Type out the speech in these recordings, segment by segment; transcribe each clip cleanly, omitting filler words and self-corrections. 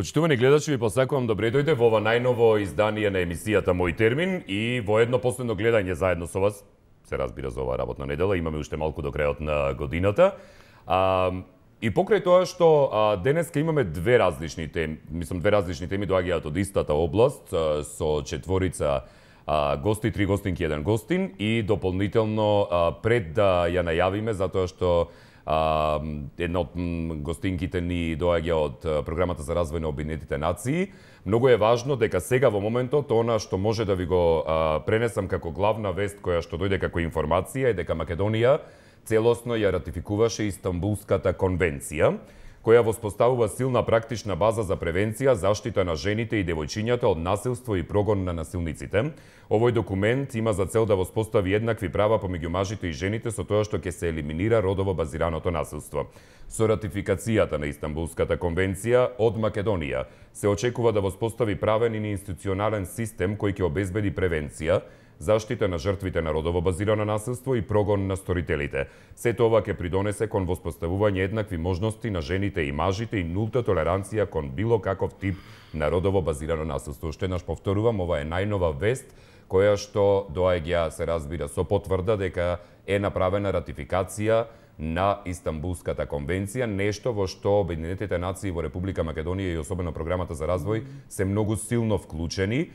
Почитувани гледачи, ви посакувам добре дојде во ова најново издание на емисијата Мој термин и во едно последно гледање заедно со вас. Се разбира за оваа работна недела, имаме уште малку до крајот на годината. И покрај тоа што денеска имаме две различни теми доаѓаат од истата област со четворица гости, 3 гостинки, 1 гостин и дополнително пред да ја најавиме затоа што една од гостинките ни доаѓа од програмата за развој на Обединетите нации. Многу е важно дека сега во моментот она што може да ви го пренесам како главна вест која што дојде како информација е дека Македонија целосно ја ратификуваше Истанбулската конвенција, која воспоставува силна практична база за превенција, заштита на жените и девојчињата од насилство и прогон на насилниците. Овој документ има за цел да воспостави еднакви права помеѓу мажите и жените со тоа што ќе се елиминира родово базираното насилство. Со ратификацијата на Истанбулската конвенција од Македонија се очекува да воспостави правен и институционален систем кој ќе обезбеди превенција, заштита на жртвите на родово базирано насилство и прогон на сторителите. Сето ова ќе придонесе кон воспоставување еднакви можности на жените и мажите и нулта толеранција кон било каков тип на родово базирано насилство. Уште еднаш повторувам, ова е најнова вест која што доаѓа, се разбира, со потврда дека е направена ратификација на Истанбулската конвенција, нешто во што Обединетите нации во Република Македонија и особено програмата за развој се многу силно вклучени.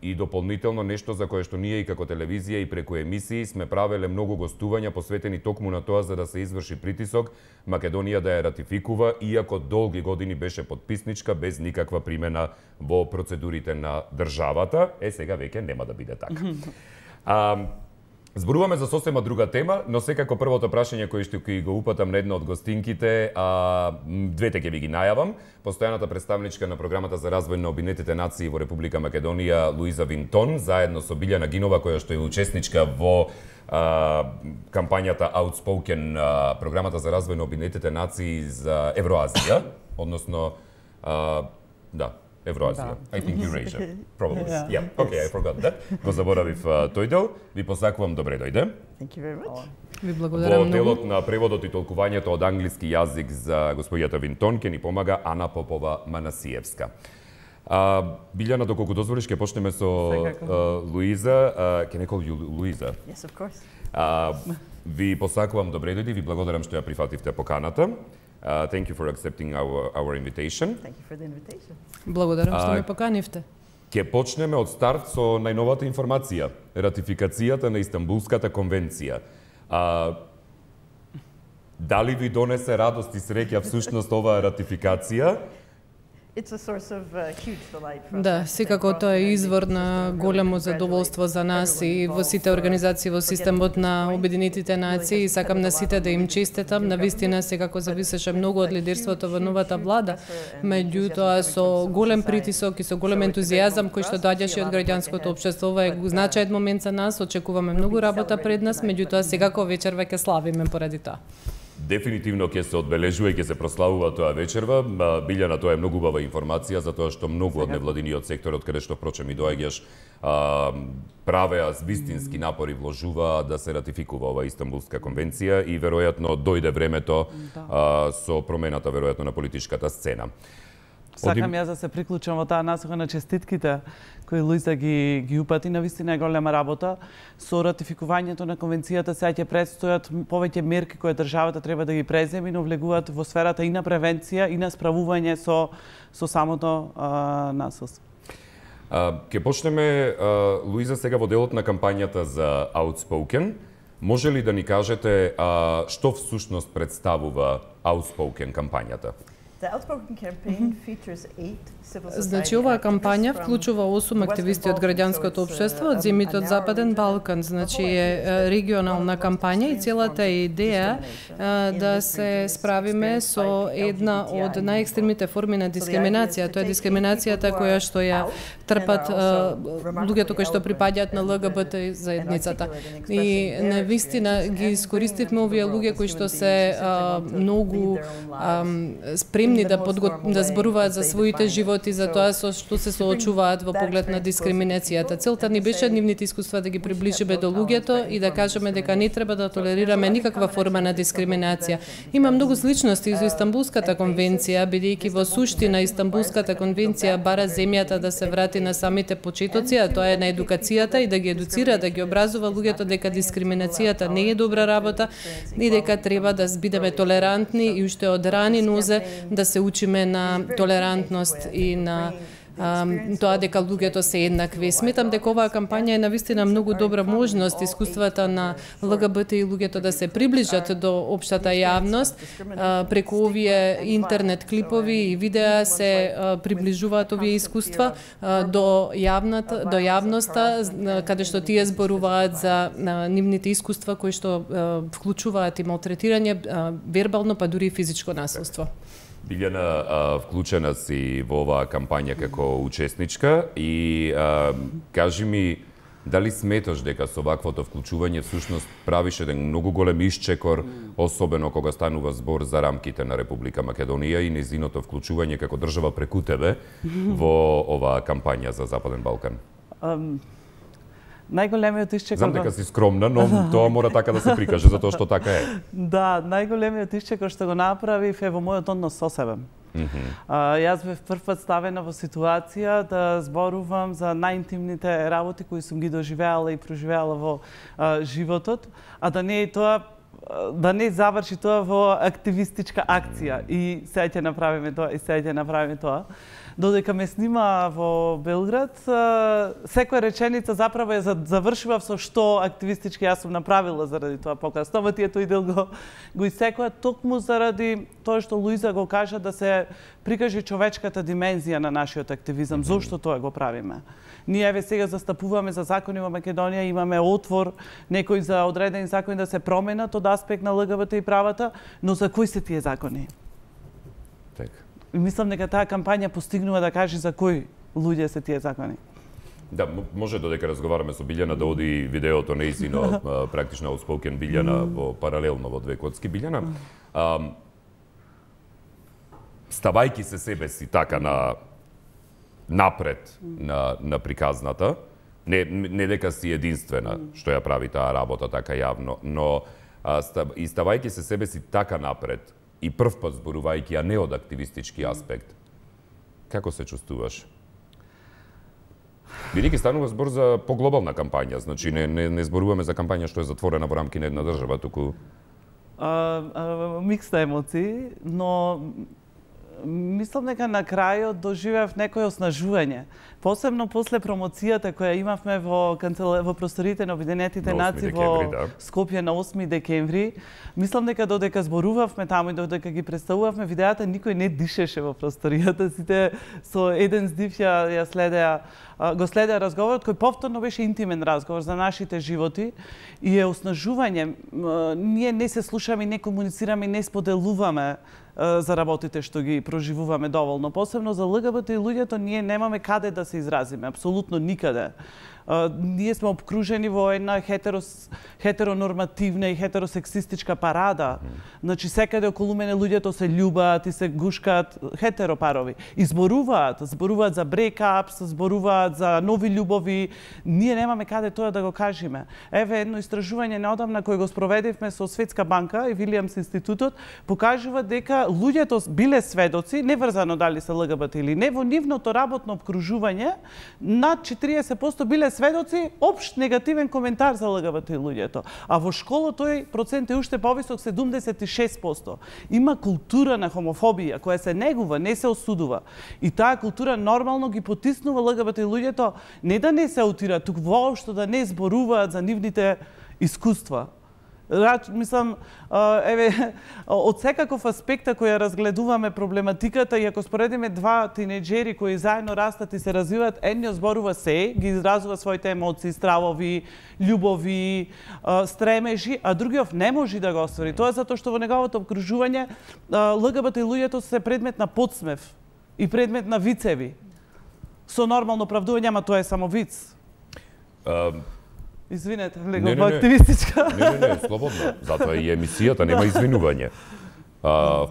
И дополнително нешто за кое што ние и како телевизија и преку емисии сме правеле многу гостувања посветени токму на тоа за да се изврши притисок Македонија да ја ратификува, иако долги години беше подписничка без никаква примена во процедурите на државата. Сега веќе нема да биде така. Зборуваме за сосема друга тема, но секако првото прашање кој што ќе го упатам на една од гостинките, двете ќе ви ги најавам. Постојаната представничка на програмата за развој на Обединетите нации во Република Македонија Луиза Винтон, заедно со Билјана Гинова, која што е учесничка во кампањата Outspoken, програмата за развој на Обединетите нации за Евроазија, односно Евроазија. I think Eurasia. Probably. Yeah. Okay, I forgot that. Го заборавив тој дел. Ви посакувам добре дојде. Thank you very much. Ви благодарам многу. Во делот на преводот и толкувањето од англиски јазик за господјата Винтон ќе ни помага Ана Попова Манасиевска. Билјана, доколку дозволиш, ќе почнеме со Луиза. Can I call you Луиза? Yes, of course. Ви посакувам добре дојде, ви благодарам што ја прифативте поканата. Thank you for accepting our invitation. Thank you for the invitation. Благодарам што ме поканивте. Ќе почнеме од старт со најновата информација, ратификацијата на Истанбулската конвенција. Дали ви донесе радост и среќа всушност оваа ратификација? It's a source of huge delight for us. Да, секако тоа е извор на големо задоволство за нас и во сите организации во системот на Обединетите нации и сакам на сите да им честитам. Навистина секако зависеше многу од лидерството во новата влада, меѓутоа со голем притисок и со голем ентузијазам кој што доаѓаше од граѓанското општество. Ова е значаен момент за нас, очекуваме многу работа пред нас, меѓутоа секако вечерва ќе славиме поради тоа. Дефинитивно ќе се одбележува и ќе се прославува тоа вечерва. Билјана, тоа е многу убава информација, затоа што многу од невладиниот сектор, од каде што впрочем и доаѓаш, правеа вистински напори, вложува да се ратификува ова Истанбулска конвенција и веројатно дојде времето со промената веројатно на политичката сцена. Сакам јас да се приклучам во таа насока на честитките кои Луиза ги упати. Навистина е голема работа. Со ратификувањето на конвенцијата сега ќе предстојат повеќе мерки кои државата треба да ги преземе, но влегуваат во сферата и на превенција и на справување со самото насилство. Ке почнеме, Луиза, сега во делот на кампањата за Outspoken. Може ли да ни кажете што всушност представува Outspoken кампањата? Значи, оваа кампања вклучува 8 активисти од граѓанското општество од земјите од Западен Балкан. Значи е регионална кампања и целата идеја да се справиме со една од најекстремните форми на дискриминација. Тоа е дискриминацијата која што ја трпат луѓето кои што припаѓаат на ЛГБТ заедницата. И навистина ги искористивме овие луѓе кои што се многу спремни спремни да зборуваат за своите животи, за тоа со што се соочуваат во поглед на дискриминацијата. Целта ни беше нивните искуства да ги приближиме до луѓето и да кажеме дека не треба да толерираме никаква форма на дискриминација. Има многу сличности со Истанбулската конвенција, бидејќи во суштина Истанбулската конвенција бара земјата да се врати на самите почетоци, а тоа е на едукацијата и да ги едуцира, да ги образува луѓето дека дискриминацијата не е добра работа и дека треба да бидеме толерантни и уште од рани нозе да се учиме на толерантност и на тоа дека луѓето се еднакви. Сметам дека оваа кампања е навистина многу добра можност искуствата на ЛГБТ и луѓето да се приближат до општата јавност. Преку овие интернет клипови и видеа се приближуваат овие искуства до јавноста, каде што тие зборуваат за нивните искуства кои што вклучуваат и малтретирање, вербално па дури и физичко насилство. Билјана, вклучена си во оваа кампања како учесничка и кажи ми, дали сметаш дека со ваквото вклучување всушност правиш еден многу голем исчекор, особено кога станува збор за рамките на Република Македонија и нејзиното вклучување како држава преку тебе во оваа кампања за Западен Балкан? Најголемиот исчекор... Знам дека си скромна, но тоа мора така да се прикаже, затоа што така е. Да, најголемиот исчекор што го направив е во мојот однос со себе. Јас бев првпат ставена во ситуација да зборувам за најинтимните работи кои сум ги доживеала и проживеала во животот, а да не е тоа да не заврши тоа во активистичка акција и сега ќе направиме тоа, Додека ме снима во Белград, секоја реченица заправо ја завршував со што активистички јас сум направила заради тоа покасно, ама тие тој дел го исекоа токму заради тоа што Луиза го кажа да се прикаже човечката димензија на нашиот активизам. Зошто тоа го правиме? Ние еве сега застапуваме за закони во Македонија, имаме отвор некои за одредени закони да се променат од аспект на ЛГБТ и правата, но за кои се тие закони? Така. Мислам дека таа кампања постигнува да каже за кои луѓе се тие закони. Да, може додека разговараме со Билјана да оди видеото нејзино практично outspoken Билјана во паралелно во Две коцки. Билјана, ставајки се себе си така напред на приказната, не дека си единствена што ја прави таа работа така јавно, но и ставајки се себе си така напред и првпат зборувајќи, а не од активистички аспект, како се чувствуваш? Бидејќи станува збор за поглобална кампања, значи не зборуваме за кампања што е затворена во рамки на една држава, туку... Микста емоции, но мислам дека на крајот доживеав некое оснажување. Посебно после промоцијата која имавме во просториите на Обединетите нации во Скопје на 8 декември. Мислам дека додека зборувавме таму и додека ги представувавме видеата, никој не дишеше во просторијата. Сите со еден здив го следеа разговорот, кој повторно беше интимен разговор за нашите животи и е оснажување. Ние не се слушаме, не комуницираме, не споделуваме за работите што ги проживуваме доволно. Посебно за ЛГБТ и луѓето ние немаме каде да се изразиме, апсолутно никаде. Ние сме обкружени во една хетеронормативна и хетеросексистичка парада. Значи, секаде околу мене луѓето се љубаат и се гушкаат хетеропарови. И зборуваат за брейкапс, зборуваат за нови љубови. Ние немаме каде тоа да го кажеме. Еве едно истражување неодамна кој го спроведивме со Светска банка и Вилијамс институтот, покажува дека луѓето биле сведоци, неврзано дали се ЛГБТ или не, во нивното работно обкружување, над 40% биле сведоци општ негативен коментар за ЛГБТ луѓето. А во школа тој процент е уште повисок, 76%. Има култура на хомофобија која се негува, не се осудува. И таа култура нормално ги потиснува ЛГБТ луѓето не да не се аутира, туку воопшто да не зборуваат за нивните искуства. Мислам, еве, од секаков аспект кој ја разгледуваме проблематиката и ако споредиме два тинејџери кои заедно растат и се развиваат, едниот зборува се, ги изразува своите емоции, стравови, љубови, стремежи, а другиот не може да го оствари. Тоа е затоа што во неговото обкружување ЛГБТ луѓето се предмет на подсмев и предмет на вицеви. Со нормално оправдување, ама тоа е само виц. Извинете, влегов во активистичка. Не, слободно. Затоа и емисијата нема извинување.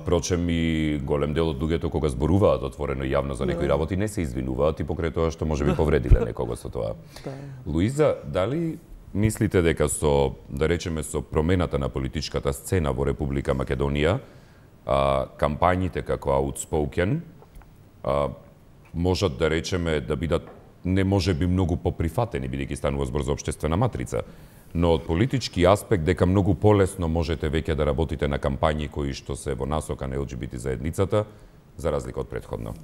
Впрочем, и голем дел од луѓето кога зборуваат отворено и јавно за некои работи не се извинуваат и покрај тоа што можеби повредиле некого со тоа. Луиза, дали мислите дека со, да речеме, со промената на политичката сцена во Република Македонија, кампањите како outspoken можат, да речеме, да бидат не може би многу поприфатени, бидејќи станува збор за општествена матрица, но од политички аспект дека многу полесно можете веќе да работите на кампањи кои што се во насока на ЛГБТ заедницата, за разлика од претходно?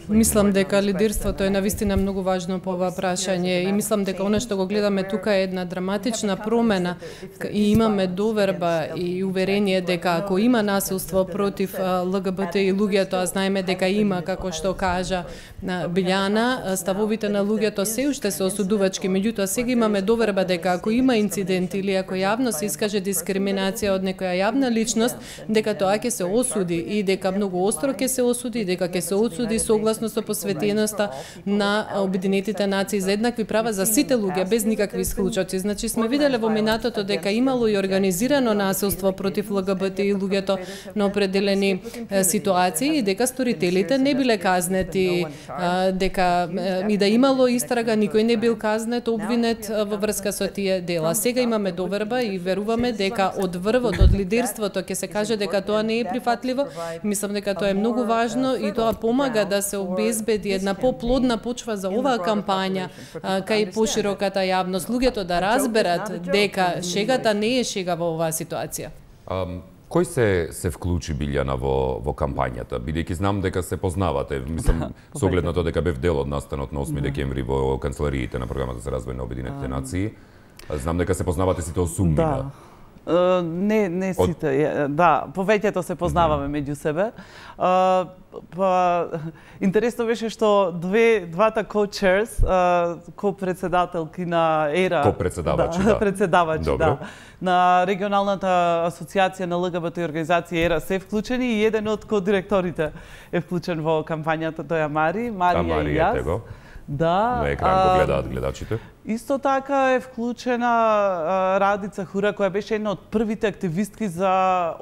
Мислам дека лидерството е навистина многу важно по ова прашање и мислам дека она што го гледаме тука е една драматична промена и имаме доверба и уверение дека ако има насилство против ЛГБТ и луѓето, а знаеме дека има, како што кажа Билјана, ставовите на луѓето се уште се осудувачки, меѓутоа сега имаме доверба дека ако има инцидент или ако јавно се искаже дискриминација од некоја јавна личност, дека тоа ќе се осуди и дека многу остро ќе се осуди, дека ќе се осуди согласно со посветеноста на Обединетите нации за еднакви права за сите луѓе без никакви исклучоци. Значи сме виделе во минатото дека имало и организирано насилство против ЛГБТ и луѓето на определени ситуации и дека сторителите не биле казнети, дека и да имало истрага, никој не бил казнет, обвинет во врска со тие дела. Сега имаме доверба и веруваме дека од врвот, од лидерството ќе се каже дека тоа не е прифатливо. Мислам дека тоа е многу важно и тоа помага да се обезбеди една поплодна почва за оваа кампања кај пошироката јавност, луѓето да разберат дека шегата не е шега во оваа ситуација. Кој се вклучи, Билјана, во кампањата? Бидејќи знам дека се познавате, мислам, со оглед на тоа дека бев дел од настанот на 8 декември во канцелариите на програмата за развој на Обединетите нации. Знам дека се познавате сите осумнина. Не сите, да, повеќето се познаваме меѓу себе. Интересно беше што двата co-chairs, ко-председателки на ЕРА, председавачи, да, на регионалната асоциација на ЛГБТ организација ЕРА се вклучени и еден од ко-директорите е вклучен во кампањата, тој е Марија и јас. Да, на екран го гледаат гледачите. Исто така е вклучена Радица Хура, која беше една од првите активистки за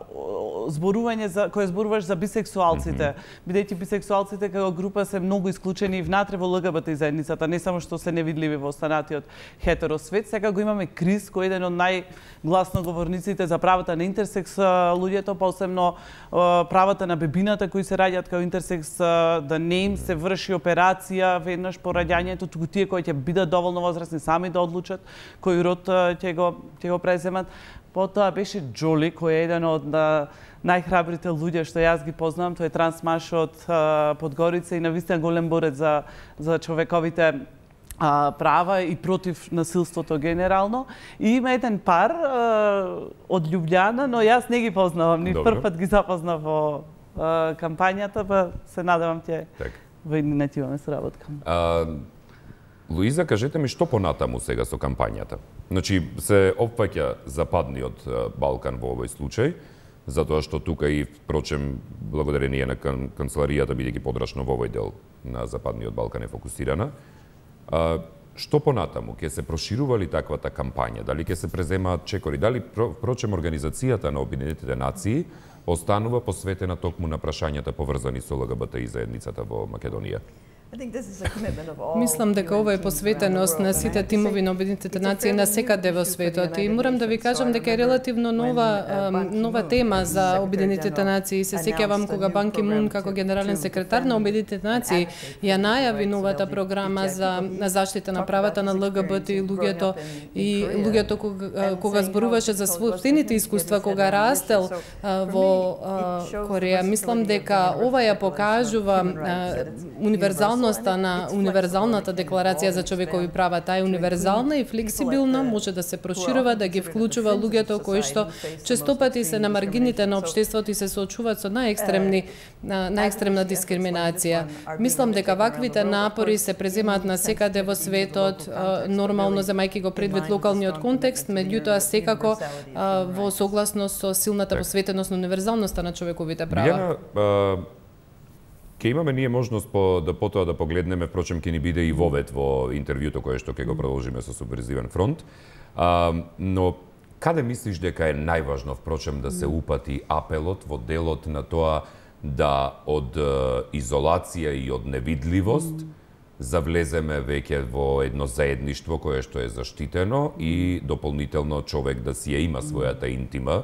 зборување која зборуваш за бисексуалците, бидејќи бисексуалците како група се многу исклучени внатре во ЛГБТ заедницата, не само што се невидливи во останатиот хетеросвет. Сега го имаме Крис, кој е еден од најгласноговорниците за правата на интерсекс луѓето, посебно правата на бебината кои се раѓаат како интерсекс, да не им се врши операција веднаш по раѓањето, туку тие кои ќе бидат доволно возрастни сами да одлучат кој род ќе го преземат. Потоа беше Джоли, кој е еден од најхрабрите луѓе што јас ги познавам, тој е трансмаш од Подгорица и навистина голем борец за човековите права и против насилството генерално. И има еден пар од Љубљана, но јас не ги познавам, ни прв пат ги запознав во кампањата, па се надевам ќе во иднина ќе имаме соработка. Луиза, кажете ми што понатаму сега со кампањата? Значи, се опфаќа Западниот Балкан во овој случај, затоа што тука и, впрочем, благодарение на канцеларијата, бидејќи подрачно во овој дел на Западниот Балкан е фокусирана. Што понатаму? Ќе се проширува ли таквата кампања? Дали ќе се преземаат чекори? Дали, впрочем, организацијата на Обединетите нации останува посветена токму на прашањата поврзани со ЛГБТ и заедницата во Македонија? Мислам дека ова е посветеност на сите тимови на Обединетите нации на секаде во светот и морам да ви кажам дека е релативно нова тема за Обединетите нации. Се сеќавам кога Бан Ки Мун како генерален секретар на Обединетите нации ја најави новата програма за заштита на правата на ЛГБТ и луѓето кога зборуваше за собствените искуства кога растел во Кореја. Мислам дека ова ја покажува универзалната декларација за човекови права. Таа е универзална и флексибилна, може да се проширува, да ги вклучува луѓето кои што честопати се на маргините на општеството и се соочуваат со најекстремна дискриминација. Мислам дека ваквите напори се преземаат на секаде во светот, нормално земајќи го предвид локалниот контекст, меѓутоа секако во согласност со силната посветеност на универзалноста на човековите права. Ке имаме ние можност да потоа да погледнеме, впрочем ќе ни биде и вовет во интервјуто кое што ќе го продолжиме со Субверзивен фронт, но Каде мислиш дека е најважно, впрочем, да се упати апелот во делот на тоа да од изолација и од невидливост завлеземе веќе во едно заедништво кое што е заштитено и дополнително човек да си ја има својата интима?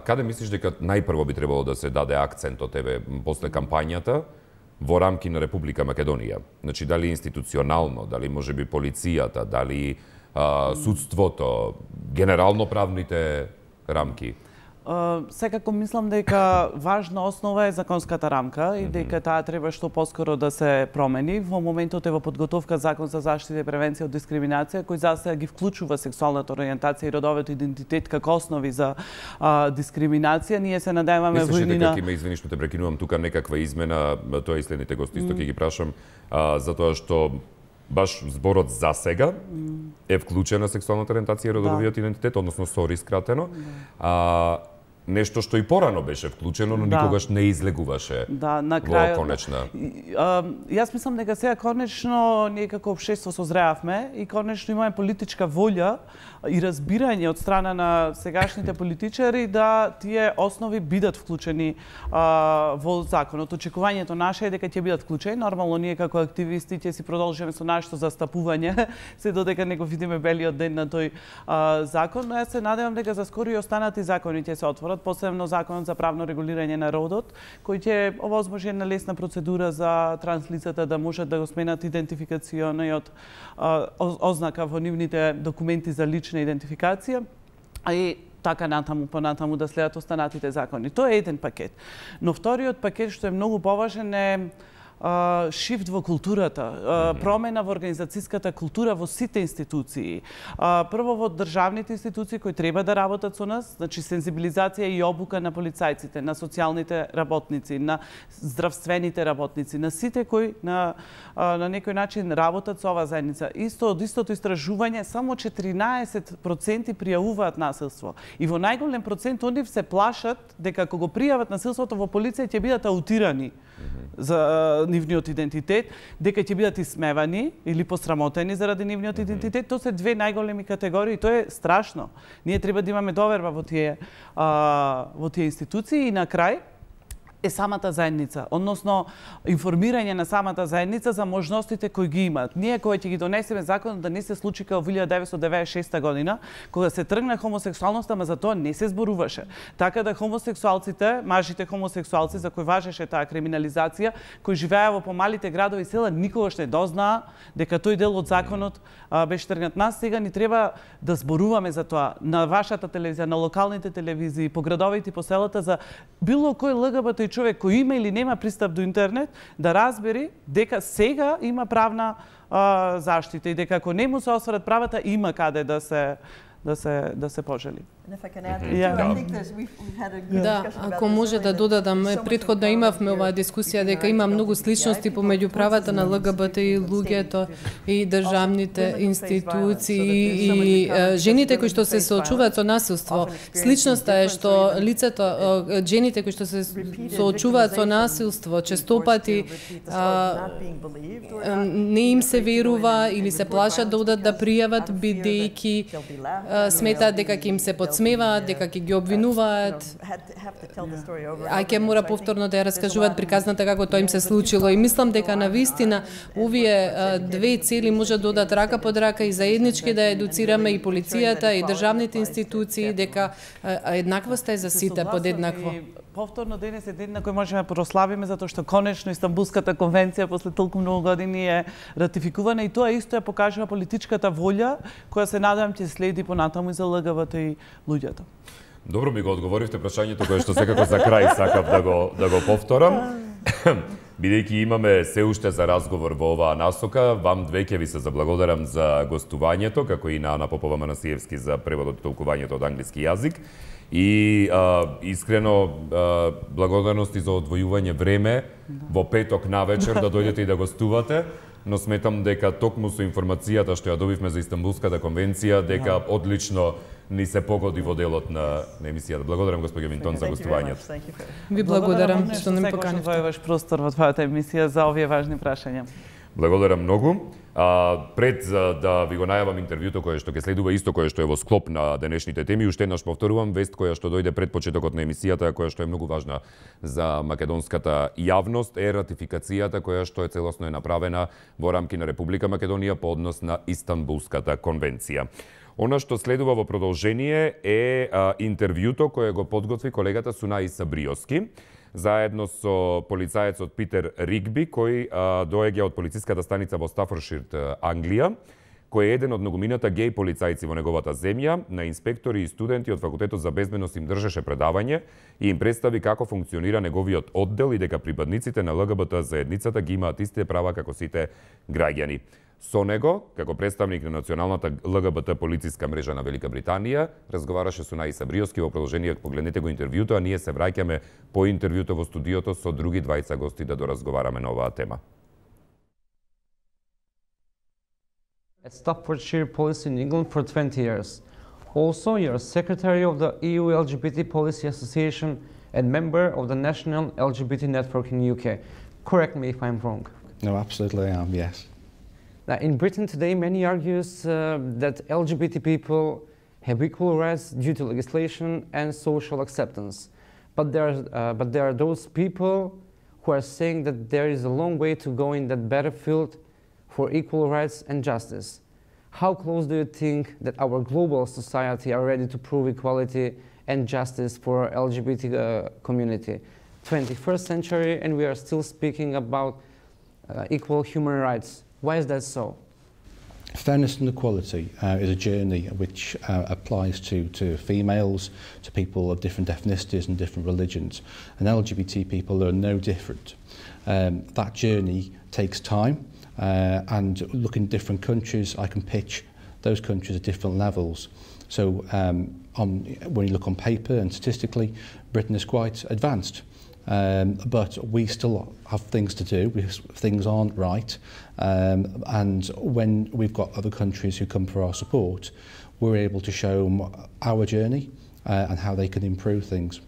Каде мислиш дека најпрво би требало да се даде акцент од тебе после кампањата во рамки на Република Македонија? Значи, дали институционално, дали можеби полицијата, дали судството, генерално правните рамки? Секако мислам дека важна основа е законската рамка и дека таа треба што поскоро да се промени. Во моментот е во подготовка Закон за заштита и превенција од дискриминација, кој засега ги вклучува сексуалната ориентација и родовиот идентитет како основи за дискриминација. Ние се надеваме во Мислиш дека има, извини што те прекинувам, тука некаква измена, тоа и следните гости исто ќе ги прашам, затоа што баш зборот за сега е вклучена сексуалната ориентација и родовиот идентитет, односно СОРИ скратено. Нешто што и порано беше вклучено, но никогаш не излегуваше на крајот, во конечна. Јас мислам дека сега конечно ние како општество созреавме и конечно имаме политичка волја и разбирање од страна на сегашните политичари да тие основи бидат вклучени во законот. Очекувањето наше е дека ќе бидат вклучени. Нормално ние како активисти ќе си продолжиме со нашето застапување се додека не го видиме белиот ден на тој закон, но јас се надевам дека за скоро и останати закони ќе се отворат, посебно законот за правно регулирање на родот, кој ќе овозможи една лесна процедура за транслицата да можат да го сменат идентификациониот ознака во нивните документи за лична идентификација, и така натаму, понатаму да следат останатите закони. Тоа е еден пакет. Но вториот пакет, што е многу поважен, е шифт во културата, промена во организацијската култура во сите институции. Прво во државните институции кои треба да работат со нас, значи сензибилизација и обука на полицајците, на социјалните работници, на здравствените работници, на сите кои на некој начин работат со оваа заедница. Од истото истражување, само 14% пријавуваат насилство. И во најголем процент од нив се плашат дека кога го пријават насилството во полиција ќе бидат аутирани за нивниот идентитет, дека ќе бидат исмевани или посрамотени заради нивниот идентитет. Тоа се две најголеми категории, тоа е страшно. Ние треба да имаме доверба во тие институции и на крај е самата заедница, односно информирање на самата заедница за можностите кои ги имаат. Ние кога ќе ги донесеме законот да не се случи како во 1996 година, кога се тргна хомосексуалноста, ама за тоа не се зборуваше. Така да хомосексуалците, мажите хомосексуалци за кои важеше таа криминализација, кои живееа во помалите градови и села, никогаш не дознаа дека тој дел од законот беше тргнат. Нас сега ни треба да зборуваме за тоа на вашата телевизија, на локалните телевизии, по градовите и по селата, за било кој ЛГБТ човек кој има или нема пристап до интернет, да разбери дека сега има правна заштита и дека ако не му се осварат правата, има каде да се пожели. Да, ако може да додадам, претходно имавме оваа дискусија дека има многу сличности помеѓу правата на ЛГБТ и луѓето и државните институции и жените кои што се соочуваат со насилство. Сличноста е што лицето, жените кои што се соочуваат со насилство, честопати не им се верува или се плашат да одат да пријават бидејќи сметаат дека ќе им се подсмеваат, дека ќе ги обвинуваат, а ќе мора повторно да ја раскажуваат приказната како тоа им се случило. И мислам дека навистина овие две цели може да одат рака под рака и заеднички да едуцираме и полицијата и државните институции дека еднаквоста е за сите подеднакво. Повторно денес е ден на кој можеме да прославиме затоа што конечно Истанбулската конвенција после толку многу години е ратификувана и тоа исто ја покажува политичката волја која се надевам ќе следи понатаму и за ЛГБТ и луѓето. Добро ми го одговоривте прашањето кое што секако за крај сакав да го повторам. Бидејќи имаме се уште за разговор во оваа насока, вам две ќе ви се заблагодарам за гостувањето, како и на Ана Попова Манасиевски за преводот и толкувањето од англиски јазик. И искрено благодарности за одвојување време во петок навечер да дојдете и да гостувате, но сметам дека токму со информацијата што ја добивме за Истанбулската конвенција, дека одлично ни се погоди во делот на емисијата. Благодарам госпоѓа Винтон за гостувањето. Ви благодарам што не поканивте. Благодарам што војуваш простор во твојата емисија за овие важни прашања. Благодарам многу. Пред да ви го најавам интервјуто кое што ќе следува, исто кое што е во склоп на денешните теми, уште еднаш повторувам вест која што дојде пред почетокот на емисијата, која што е многу важна за македонската јавност, е ратификацијата која што е целосно направена во рамки на Република Македонија по однос на Истанбулската конвенција. Она што следува во продолжение е интервјуто кое го подготви колегата Сунаи Сабриоски, заедно со полицаецот Питер Ригби, кој доаѓа од полициската станица во Стафоршир, Англија, кој е еден од многумината геј полицајци во неговата земја. На инспектори и студенти од Факултетот за безбедност им држеше предавање и им представи како функционира неговиот оддел и дека припадниците на ЛГБТ заедницата ги имаат истите права како сите граѓани. Со него, како представник на Националната ЛГБТ полициска мрежа на Велика Британија, разговараше Сунаи Сабриоски. Во продолжение погледнете го интервјуто, а ние се враќаме по интервјуто во студиото со други двајца гости да доразговараме на оваа тема. At Staffordshire Police in England for 20 years. Also, you're secretary of the EU LGBT Policy Association and member of the National LGBT Network in UK. Correct me if I'm wrong. No, absolutely I am, yes. Now, in Britain today, many argues that LGBT people have equal rights due to legislation and social acceptance. But there are those people who are saying that there is a long way to go in that battlefield for equal rights and justice. How close do you think that our global society are ready to prove equality and justice for LGBT community? 21st century, and we are still speaking about equal human rights. Why is that so? Fairness and equality is a journey which applies to females, to people of different ethnicities and different religions, and LGBT people are no different. That journey takes time, and looking at different countries, I can pitch those countries at different levels. So when you look on paper and statistically, Britain is quite advanced. But we still have things to do, things aren't right, and when we've got other countries who come for our support, we're able to show them our journey and how they can improve things.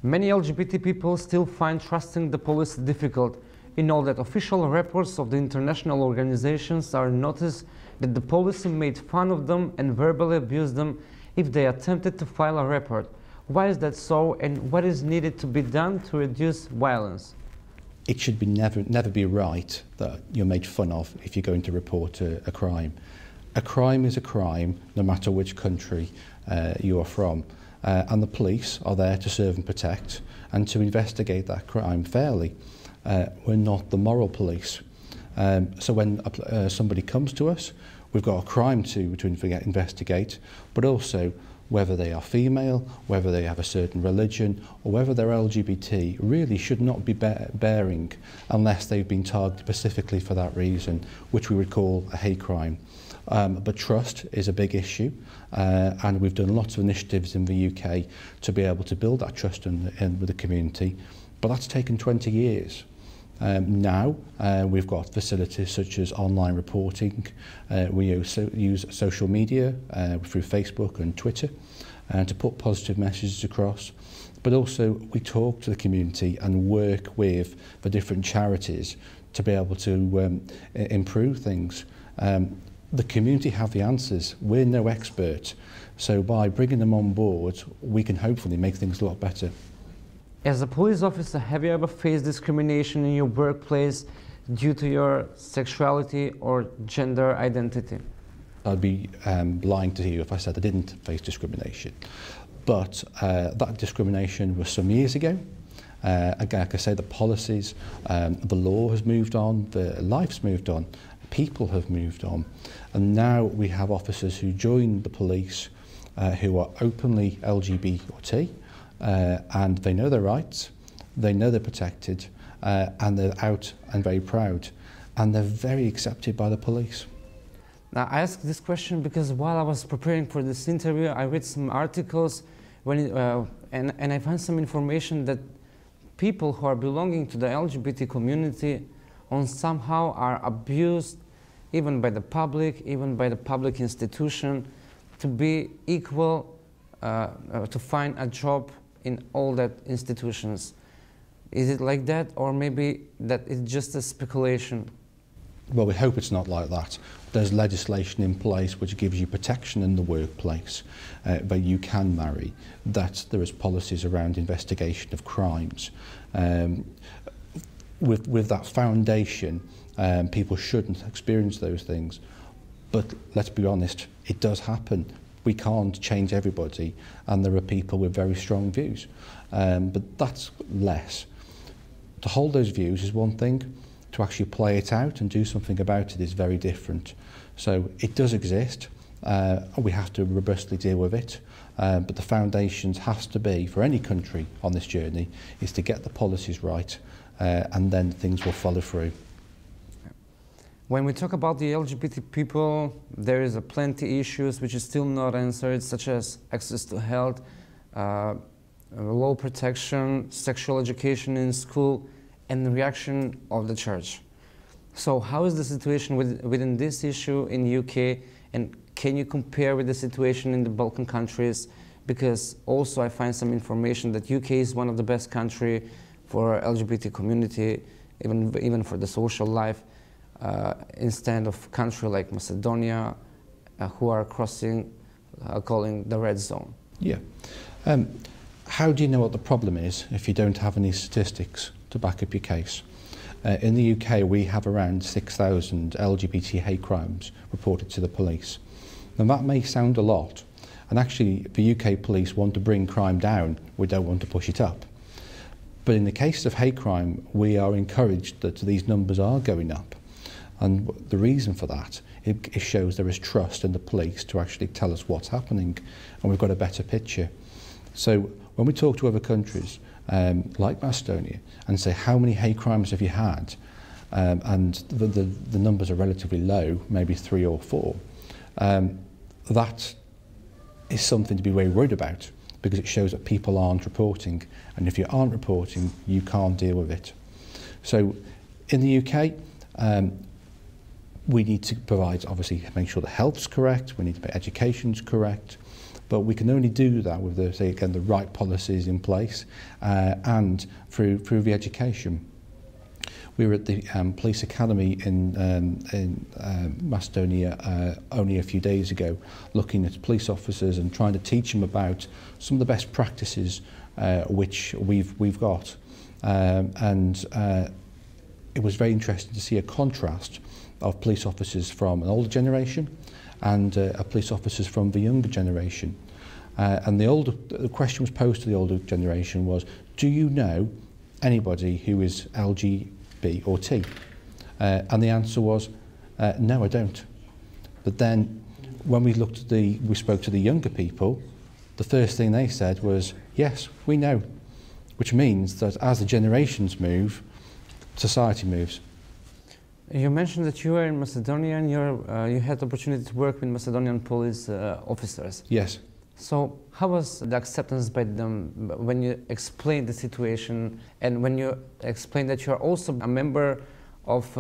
Many LGBT people still find trusting the police difficult. In all that official reports of the international organizations are noticed that the police made fun of them and verbally abused them if they attempted to file a report. Why is that so, and what is needed to be done to reduce violence? It should be never be right that you're made fun of if you're going to report a crime. A crime is a crime, no matter which country you are from. And the police are there to serve and protect and to investigate that crime fairly. We're not the moral police. So when somebody comes to us, we've got a crime to investigate, but also whether they are female, whether they have a certain religion, or whether they're LGBT, really should not be bearing unless they've been targeted specifically for that reason, which we would call a hate crime. But trust is a big issue, and we've done lots of initiatives in the UK to be able to build that trust with the community, but that's taken 20 years. Now we've got facilities such as online reporting. We use social media through Facebook and Twitter to put positive messages across, but also we talk to the community and work with the different charities to be able to improve things. The community have the answers. We're no expert, so by bringing them on board we can hopefully make things a lot better. As a police officer, have you ever faced discrimination in your workplace due to your sexuality or gender identity? I'd be lying to you if I said I didn't face discrimination. But that discrimination was some years ago. Again, like I say, the policies, the law has moved on, the life's moved on, people have moved on. And now we have officers who join the police who are openly LGBT, and they know their rights, they know they're protected, and they're out and very proud, and they're very accepted by the police. Now, I ask this question because while I was preparing for this interview, I read some articles and I found some information that people who are belonging to the LGBT community somehow are abused even by the public institution, to be equal, to find a job in all that institutions. Is it like that, or maybe that it's just a speculation? Well, we hope it's not like that. There's legislation in place which gives you protection in the workplace, but you can marry, that there is policies around investigation of crimes. With that foundation, people shouldn't experience those things. But let's be honest, it does happen. We can't change everybody, and there are people with very strong views. But that's less. To hold those views is one thing. To actually play it out and do something about it is very different. So it does exist. We have to robustly deal with it. But the foundations has to be, for any country on this journey, is to get the policies right, and then things will follow through. When we talk about the LGBT people, there is plenty issues which is still not answered, such as access to health, law protection, sexual education in school, and the reaction of the church. So how is the situation within this issue in the UK, and can you compare with the situation in the Balkan countries? Because also I find some information that UK is one of the best countries for LGBT community, even for the social life, instead of country like Macedonia, who are crossing, calling the red zone. Yeah. How do you know what the problem is if you don't have any statistics to back up your case? In the UK, we have around 6,000 LGBT hate crimes reported to the police. Now that may sound a lot, and actually the UK police want to bring crime down, we don't want to push it up. But in the case of hate crime, we are encouraged that these numbers are going up. And the reason for that, it shows there is trust in the police to actually tell us what's happening, and we've got a better picture. So when we talk to other countries, like Macedonia, and say how many hate crimes have you had, and the numbers are relatively low, maybe 3 or 4, that is something to be very worried about, because it shows that people aren't reporting, and if you aren't reporting, you can't deal with it. So in the UK, we need to provide, obviously, make sure the health's correct, we need to make education's correct, but we can only do that with the, say again, the right policies in place, and through the education. We were at the police academy in Macedonia only a few days ago, looking at police officers and trying to teach them about some of the best practices which we've got, and it was very interesting to see a contrast of police officers from an older generation and police officers from the younger generation. And the question was posed to the older generation was, do you know anybody who is LGBT or T? And the answer was, no, I don't. But then when we spoke to the younger people, the first thing they said was, yes, we know, which means that as the generations move, society moves. You mentioned that you were in Macedonia and you had the opportunity to work with Macedonian police officers. Yes. So how was the acceptance by them when you explained the situation, and when you explained that you are also a member of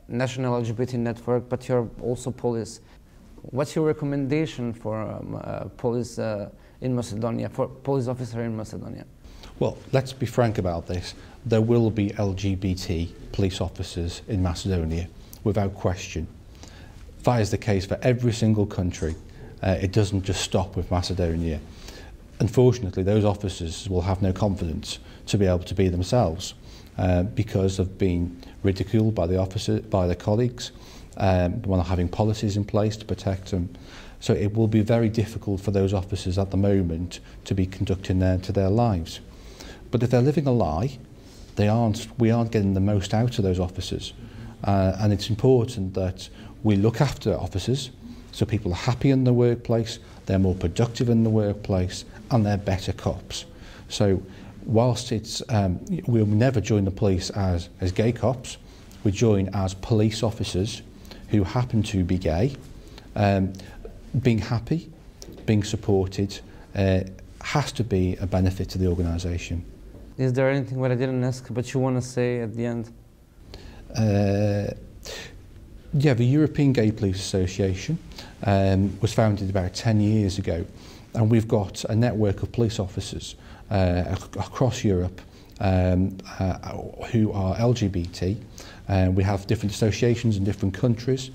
National LGBT Network, but you're also police? What's your recommendation for police in Macedonia, for police officer in Macedonia? Well, let's be frank about this. There will be LGBT police officers in Macedonia, without question. That is the case for every single country. It doesn't just stop with Macedonia. Unfortunately, those officers will have no confidence to be able to be themselves because of being ridiculed by their colleagues, while having policies in place to protect them. So it will be very difficult for those officers at the moment to be conducting their lives. But if they're living a lie, we aren't getting the most out of those officers. And it's important that we look after officers so people are happy in the workplace, they're more productive in the workplace, and they're better cops. So whilst we'll never join the police as gay cops, we join as police officers who happen to be gay. Being happy, being supported, has to be a benefit to the organisation. Is there anything that I didn't ask but you want to say at the end? Yeah, the European Gay Police Association was founded about 10 years ago, and we've got a network of police officers across Europe who are LGBT. We have different associations in different countries,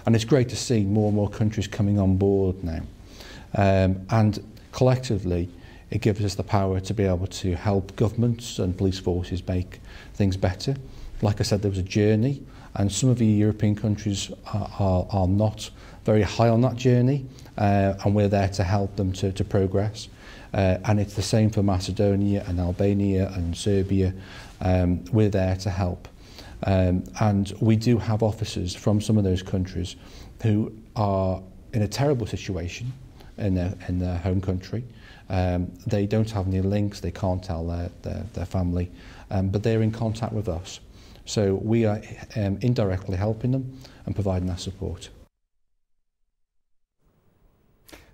and it's great to see more and more countries coming on board now. And collectively, it gives us the power to be able to help governments and police forces make things better. Like I said, there was a journey, and some of the European countries are not very high on that journey, and we're there to help them to progress. And it's the same for Macedonia and Albania and Serbia. We're there to help. And we do have officers from some of those countries who are in a terrible situation in their home country. They don't have any links, they can't tell their family, but they're in contact with us. So we are indirectly helping them and providing that support.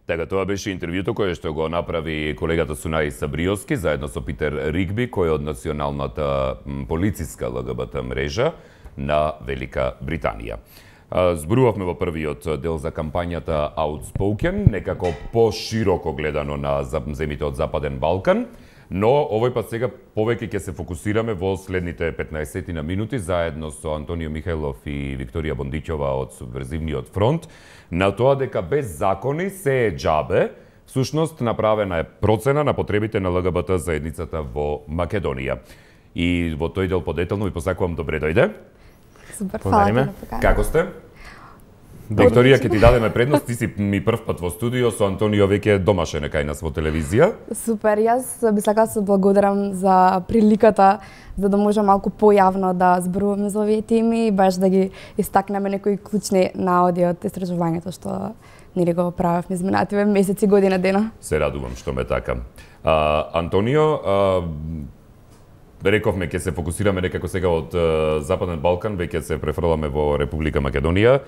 Така, тоа беше интервјуто кое што го направи колегата Сунаи Сабриоски заедно со Питер Ригби, кој е од националната полициска ЛГБТ мрежа на Велика Британија. Зборувавме во првиот дел за кампањата Outspoken, некако пошироко гледано на земите од Западен Балкан, но овој пат сега повеќе ќе се фокусираме во следните 15 на минути заедно со Антонио Михајлов и Викторија Бондиќова од Субверзивниот фронт на тоа дека без закони се е џабе. Всушност направена е процена на потребите на ЛГБТ заедницата во Македонија. И во тој дел подетално ви посакувам добре дојде. Супер, фала. Како сте? Викторија, ќе ти дадеме предност, ти си ми прв пат во студио, со Антонио веќе домашен кај нас во телевизија. Супер, јас би сакала да се благодарам за приликата, за да може малку појавно да зборуваме за овие теми и баш да ги истакнеме некои клучни наоди од истражувањето што нели го правевме изминативе месеци, година, дена. Се радувам што ме така. Антонио, рековме ќе се фокусираме некако сега од Западен Балкан, веќе се префрламе во Република Македонија.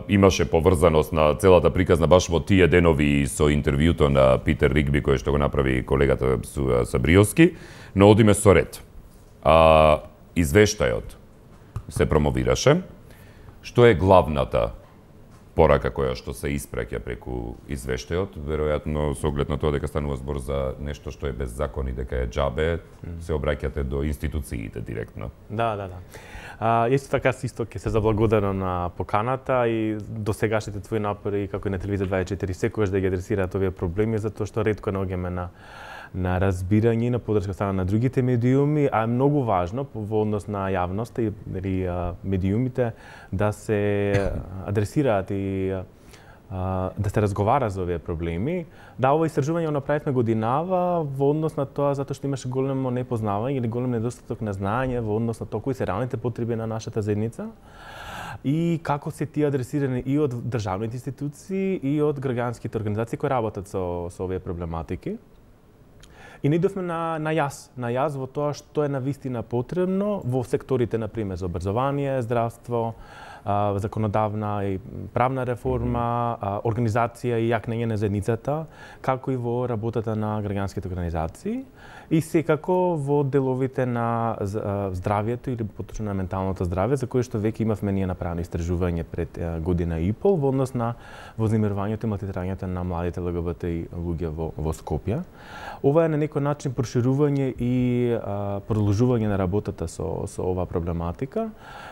Имаше поврзаност на целата приказна баш во тие денови со интервјуто на Питер Ригби кој што го направи колегата Сабриоски, но одиме со ред. Извештајот се промовираше. Што е главната порака која што се испраќа преку извештајот? Веројатно со оглед на тоа дека станува збор за нешто што е без закон и дека е џабе, се обраќате до институциите директно. Да. Исто така исто ќе се заблагодарам на поканата и до сегашните твои напори како и на телевизија 24 секогаш да ги адресираат овие проблеми, затоа што ретко наоѓаме на разбирање и на подршка страна на другите медиуми, а е многу важно во однос на јавноста и медиумите да се адресираат и да се разговара за овие проблеми. Да, ова истражување го направивме годинава во однос на тоа затоа што имаше големо непознавање или голем недостаток на знаење во однос на тоа кои се реалните потреби на нашата заедница и како се тие адресирани и од државните институции и од граѓанските организации кои работат со овие проблематики. И ние идовме на јас во тоа што е навистина потребно во секторите, например, за образование, здравство, законодавна и правна реформа, организација и јакнење на заедницата, како и во работата на граѓанските организации и секако во деловите на здравието или поточно на менталното здравје, за кое што веќе имавме ние направено истражување пред година и пол во однос на вознемирувањето и малтретирањето на младите ЛГБТ луѓе во Скопје. Ова е на некој начин проширување и продолжување на работата со оваа проблематика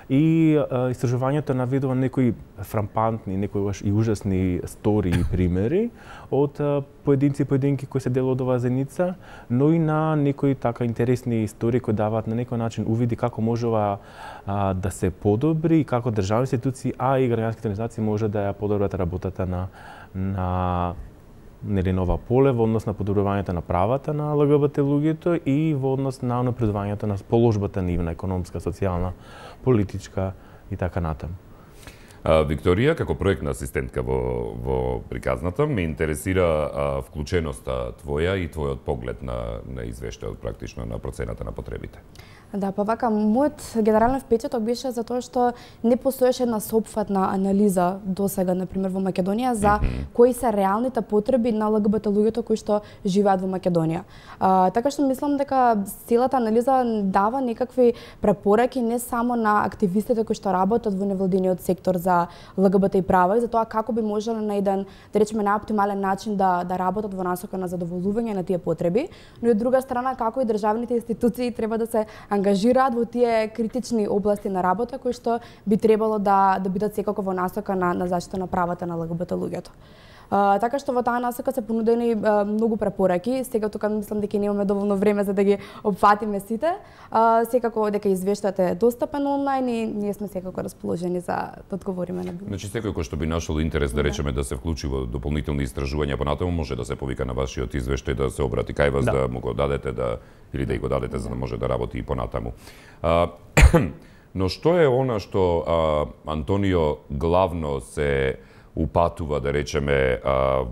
и истражувањето наведува некои фрампантни, некои и ужасни стори и примери од поединци и поединки кои се дел од оваа заедница, но и на некои така интересни истории кои даваат на некој начин увиди како може да се подобри и како државни институции, а и граѓанските организации може да ја подобрат работата на ова поле во однос на подобрувањето на правата на ЛГБТ луѓето и во однос на напредувањето на положбата нивна економска, социјална, политичка и така натаму. Викторија, како проектна асистентка во приказната, ме интересира вклученоста твоја и твојот поглед на извештајот, практично на процената на потребите. Да, па вака, мојот генерален впечаток беше за тоа што не постоеше една сопфатна анализа досега, например, во Македонија за кои се реалните потреби на ЛГБТ луѓето кои што живеат во Македонија. Така што мислам дека целата анализа дава некакви препораки не само на активистите кои што работат во невладиниот сектор за ЛГБТ и права и за тоа како би можеле на еден, да речеме, на оптимален начин да работат во насока на задоволување на тие потреби, но и од друга страна како и државните институции треба да се ангажираат во тие критични области на работа кои што би требало да бидат секако во насока на заштита на правата на ЛГБТ луѓето. Така што во таа насока се понудени многу препораки. Сега тука мислам дека немаме доволно време за да ги опфатиме сите. Секако дека извештајот е достапен онлайн и ние сме секако расположени за да одговориме на било. Значи секој кој што би нашол интерес да речеме да се вклучи во дополнителни истражувања понатаму може да се повика на вашиот извештај, да се обрати кај вас, да му го дадете или да го дадете за да може да работи и понатаму. Но што е она што Антонио главно се упатува, да речеме,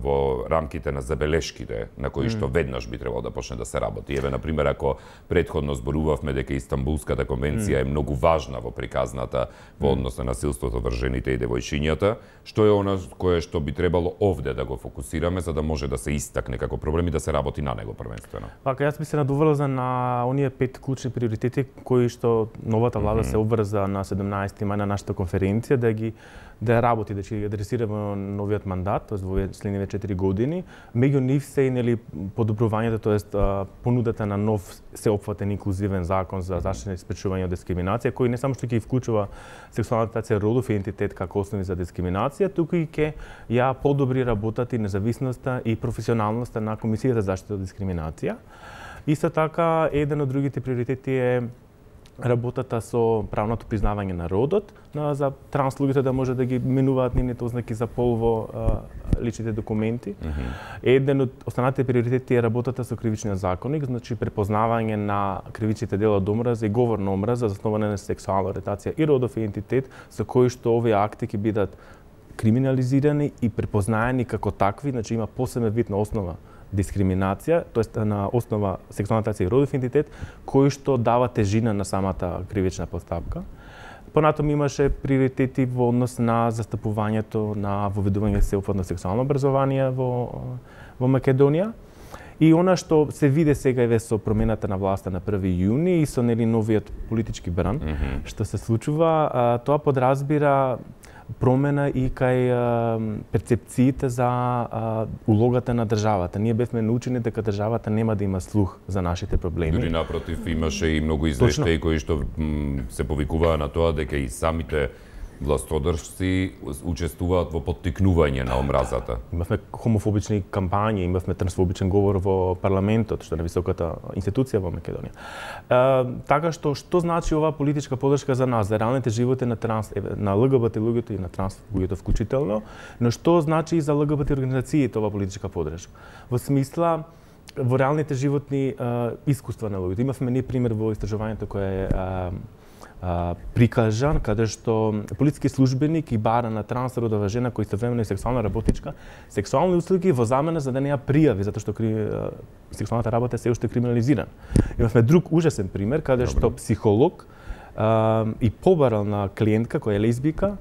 во рамките на забелешките на кои што веднаш би требало да почне да се работи. Еве, например, ако претходно зборувавме дека Истанбулската конвенција е многу важна во приказната во однос на насилството врз жените и девојчињата, што е она кое што би требало овде да го фокусираме за да може да се истакне како проблем и да се работи на него првенствено? Пака, јас би се надоврзал на оние 5 клучни приоритети кои што новата влада се обврза на 17 мај на нашата конференција да работи, да ќе ги адресира во новиот мандат, тоест во следнивите 4 години. Меѓу нив се и подобрувањето, тоест понудата на нов сеопфатен инклузивен закон за заштита и спречување од дискриминација, кој не само што ќе вклучува сексуалната ориентација, родов идентитет како основи за дискриминација, туку и ќе ја подобри работата и независноста и професионалноста на Комисијата за заштита од дискриминација. Исто така, еден од другите приоритети е работата со правното признавање на родот, за транс луѓето да може да ги менуваат нивните ознаки за пол во личните документи. Еден од останатите приоритети е работата со кривичниот законник, значи препознавање на кривичните дела од омраза и говор на омраза заснована на сексуална ориентација и родов идентитет, со кои што овие акти ќе бидат криминализирани и препознаени како такви, значи има посебен вид на основа дискриминација, тоест на основа сексуална ориентација и родов идентитет, кој што дава тежина на самата кривична постапка. Понатаму имаше приоритети во однос на застапувањето на воведување сеопфатно сексуално образование во Македонија. И она што се виде сега еве со промената на власта на 1 јуни и со новиот политички бран, што се случува, тоа подразбира промена и кај перцепциите за улогата на државата. Ние бевме научени дека државата нема да има слух за нашите проблеми. Дури напротив, имаше и многу извештаи кои што се повикуваа на тоа дека и самите властодржци учествуваат во поттикнување на омразата. Имавме хомофобични кампањи, имавме трансфобичен говор во парламентот, што е највисоката институција во Македонија. Така што значи оваа политичка подршка за нас, за реалните животи на ЛГБТ луѓето и на транс луѓето вклучително, но што значи и за ЛГБТ организациите оваа политичка подршка? Во смисла во реалните животни искуства на луѓето. Имавме ние пример во истражувањето кое е прикажан, каде што полициски службеник и бара на трансродова жена која истовремено е сексуална работичка, сексуални услуги во замена за да не ја пријави, затоа што сексуалната работа се уште криминализирана. Имавме друг ужасен пример, каде што психолог и побарал на клиентка која е лесбика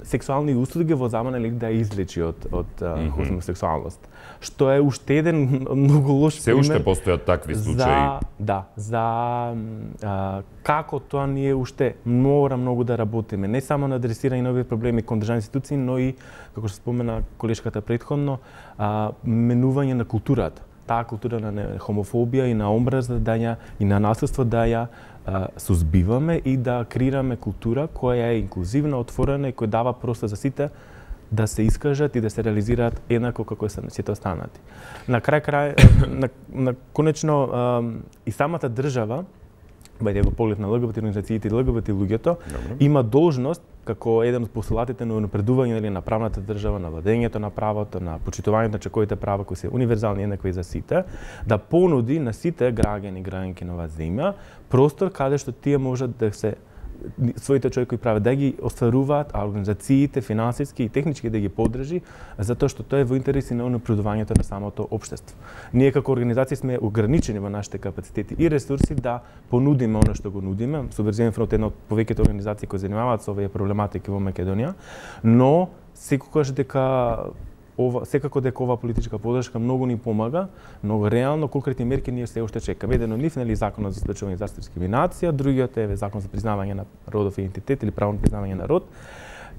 сексуални услуги во замена да ја излечи од хомосексуалност. Што е уште еден многу лош пример. Се уште постојат такви случаи. За како тоа ние уште мора многу да работиме, не само на адресирање на овие проблеми кон државни институции, но и, како што спомена колешката претходно, менување на културата. Таа култура на хомофобија и на омраза и на насилство да ја сузбиваме и да креираме култура која е инклузивна, отворена и која дава простор за сите да се искажат и да се реализираат еднако како сите останати. На конечно и самата држава, бајде во поглед на ЛГБТ организациите и ЛГБТ луѓето, има должност како еден од постулатите на напредување на правната држава, на владењето на правото, на почитувањето на човековите права кои се универзални еднакви за сите, да понуди на сите граѓани и граѓанки на оваа земја простор каде што тие можат да се своите човекови права, да ги остваруваат, а организациите, финансиски и технички да ги поддржи, затоа што тоа е во интереси на напредувањето на самото општество. Ние како организација сме ограничени во нашите капацитети и ресурси да понудиме она што го нудиме. Субверзивен фронт е една од повеќето организации кои занимаваат со овие проблематики во Македонија, но секако дека ова политичка поддршка многу ни помага, многу реално, конкретни мерки ние се уште чекаме. Еден од нив нели законот за спречување за дискриминација, другиот е закон за признавање на родов идентитет или право на признавање на род.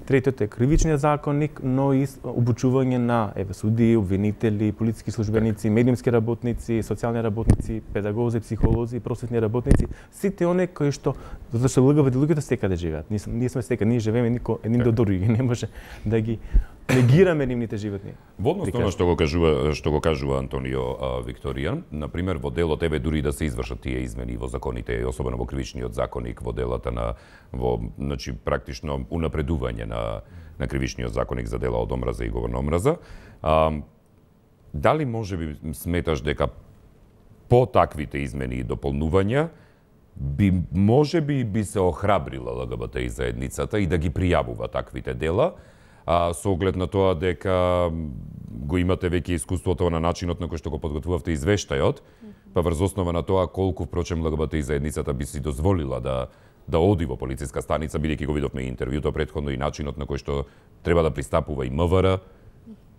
Третиот е кривичниот законник, но и обучување на судии, обвинители, полициски службеници, медиумски работници, социјални работници, педагози, психолози, просветни работници, сите оние кои што затоа што ЛГБТ луѓето секаде живеат. Ние сме секаде, ние живееме едни до други, не може да ги негираме нивните животни. Во однос на што го кажува Антонио Викторијан, на пример во делот еве дури да се извршат тие измени во законите, особено во кривичниот законник, во делата на значи практично унапредување на кривичниот законник за дела од омраза и говор на омраза. Дали можеби сметаш дека по таквите измени и дополнувања можеби би се охрабрила ЛГБТ заедницата и да ги пријавува таквите дела, со оглед на тоа дека го имате веќе искуството на начинот на кој што го подготвувавте извештајот, па врз основа на тоа колку впрочем ЛГБТ заедницата би си дозволила да оди во полициска станица, бидејќи го видовме интервјуто претходно и начинот на кој што треба да пристапува и МВР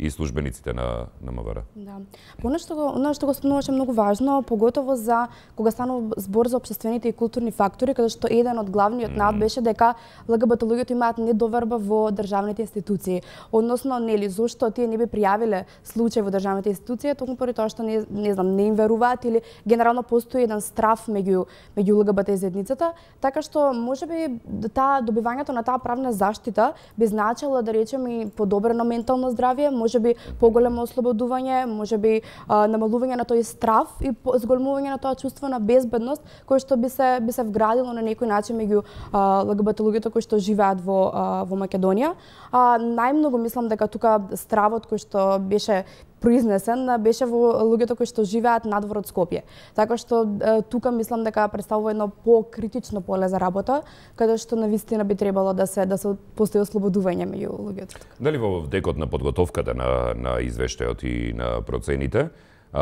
и службениците на МВР. Да. Она што го спомнуваш е многу важно, поготово за кога станува збор за општествените и културни фактори, каде што еден од главниот навод беше дека ЛГБТ луѓето имаат недоверба во државните институции. Односно, нели, зошто тие не би пријавиле случај во државните институции, токму поради тоа што не им веруваат или генерално постои еден страф меѓу ЛГБТ заедницата, така што можеби добивањето на таа правна заштита би значило да речеме и подобрено ментално здравје, можеби поголемо ослободување, можеби намалување на тој страф и зголемување на тоа чувство на безбедност кој што би се вградило на некој начин меѓу ЛГБТ луѓето кои што живеат во Македонија. Најмногу мислам дека тука стравот кој што беше произнесен беше во луѓето кои што живеат надвор од Скопје. Така што тука мислам дека представува едно покритично поле за работа, каде што навистина би требало да се постои ослободување меѓу луѓето. Дали во декот на подготовката на извештајот и на процените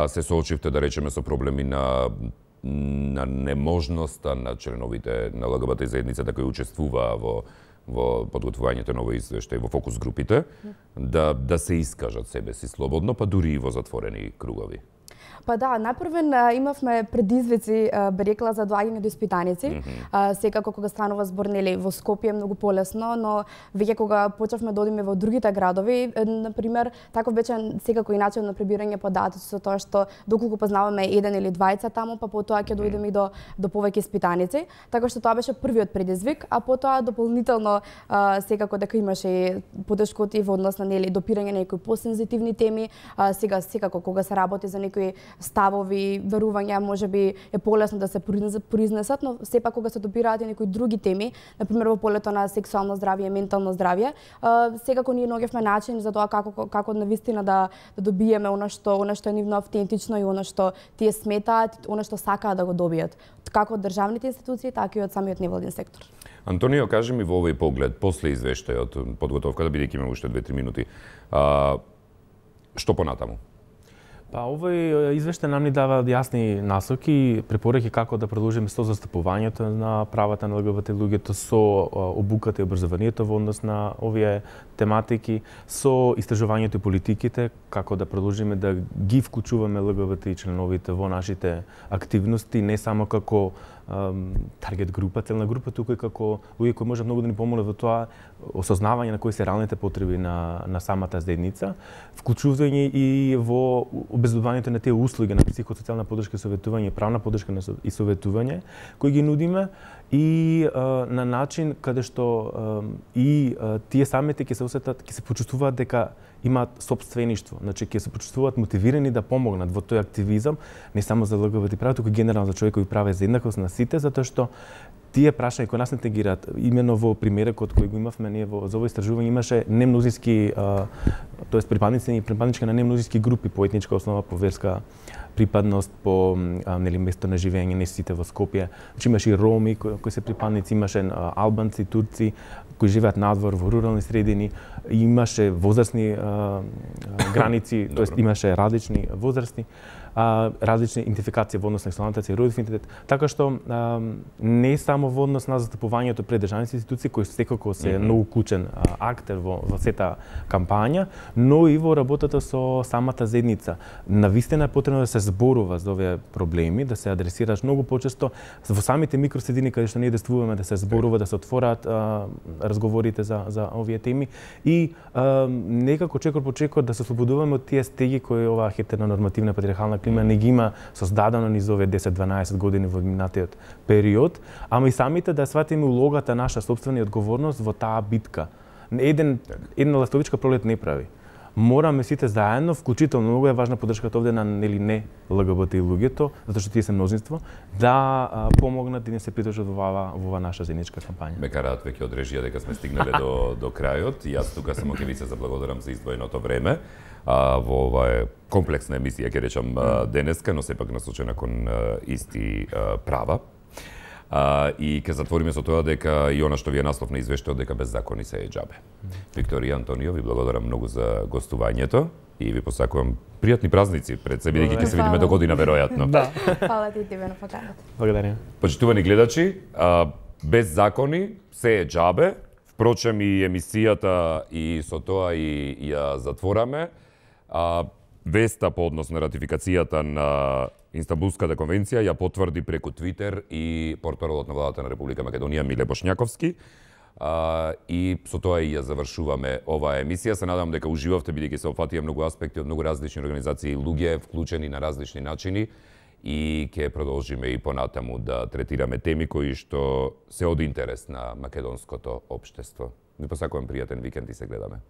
се соочивте да речеме со проблеми на неможноста на членовите на ЛГБТ заедницата кои учествуваа во подготвувањето на овој извештај во фокус групите, да се искажат себе си слободно, па дури и во затворени кругови? Па да, напрвен имавме предизвици, би рекла, за доаѓање до испитаници. Секако кога станува збор нели во Скопје е многу полесно, но веќе кога почнавме да одиме во другите градови, на пример, таков беше секако и начин на прибирање податоци со тоа што доколку познаваме еден или двајца таму, па потоа ќе дојдеме и до повеќе испитаници. Така што тоа беше првиот предизвик, а потоа дополнително секако дека имаше потешкоти во однос на нели допирање на некои посензитивни теми, сега секако кога се работи за некои ставови, верувања, можеби е полесно да се произнесат, но сепак кога се допираат и некои други теми, например во полето на сексуално здравје, ментално здравје, секако ние наоѓавме начин за тоа како навистина да добиеме она што е нивно автентично и она што тие сметаат, она што сакаат да го добијат, како од државните институции, така и од самиот невладин сектор. Антонио, кажи ми во овој поглед, после извештајот, подготовката, бидејќи имаме уште 2-3 минути, што понатаму? Па овој извештај нам ни дава јасни насоки и препораки како да продолжиме со застапувањето на правата на ЛГБТ луѓето, со обуката и образованието во однос на овие тематики, со истражувањето и политиките, како да продолжиме да ги вклучуваме ЛГБТ и членовите во нашите активности, не само како таргет група, целна група, туку и како луѓе кои може многу да ни помогнат во тоа осознавање на кои се реалните потреби на самата заедница, вклучување и во обезбедувањето на тие услуги на психосоцијална поддршка и советување, правна поддршка и советување кои ги нудиме и на начин каде што и тие самите ќе се осетат, ќе се почувствуваат дека имаат сопствеништво, значи ќе се почувствуваат мотивирани да помогнат во тој активизам, не само за ЛГБТ права, туку генерално за човекови права и за еднаквост на сите, затоа што тие прашања кои нас не тегираат, имено во примерот кој го имавме ние за ово истражување имаше немнозиски, тоест припадници на немнозиски групи по етничка основа, по верска припадност, по место на живење, не сите во Скопје. Значи имаше и роми кои се припадници, имаше албанци, турци кои живеат надвор во рурални средини, имаше возрастни граници, тоест имаше различни возрасти, различни идентификации во однос на сексуалната и родов идентитет, така што не само во однос на застапувањето пред државните институции кои секако се многу клучен актер во сета кампања, но и во работата со самата заедница. Навистина е потребно да се зборува за овие проблеми, да се адресираш многу почесто во самите микросредини каде што ние действуваме, да се зборува, да се отворат разговорите за овие теми и некако чекор по чекор да се ослободуваме од тие стеги кои оваа хетеронормативна патриархална клима не ги има создадено низ овие 10-12 години во минатиот период, ама и самите да сватиме улогата наша собствена и одговорност во таа битка. Една ластовичка пролет не прави. Мораме сите заедно, вклучително, многу е важна поддршката овде на не ЛГБТ и луѓето, затоа што тие се мнозинство, да помогнат и да се придружат во ова наша заедничка кампања. Ме караат веќе од режија дека сме стигнале до крајот. Јас тука само ќе ви се заблагодарам за издвоеното време во оваа комплексна емисија, ќе речам денеска, но сепак насочена кон исти права. И ќе затвориме со тоа дека и она што ви е наслов на извештајот дека беззакони се е џабе. Викторија Антонио, ви благодарам многу за гостувањето и ви посакувам пријатни празници пред себе, бидејќи ќе се видиме до година веројатно. Да. Фала ти тебе на поканата. Благодарам. Почитувани гледачи, беззакони се е џабе. Впрочем и емисијата и со тоа и ја затвораме. Веста по однос на ратификацијата на Инстанбулската конвенција ја потврди преку Твитер и портпаролот на владата на Република Македонија Миле Бошњаковски. И со тоа и ја завршуваме оваа емисија. Се надам дека уживавте, бидејќи се опфатија многу аспекти од многу различни организации и луѓе вклучени на различни начини и ќе продолжиме и понатаму да третираме теми кои што се од интерес на македонското општество. Ви посакувам пријатен викенд и се гледаме.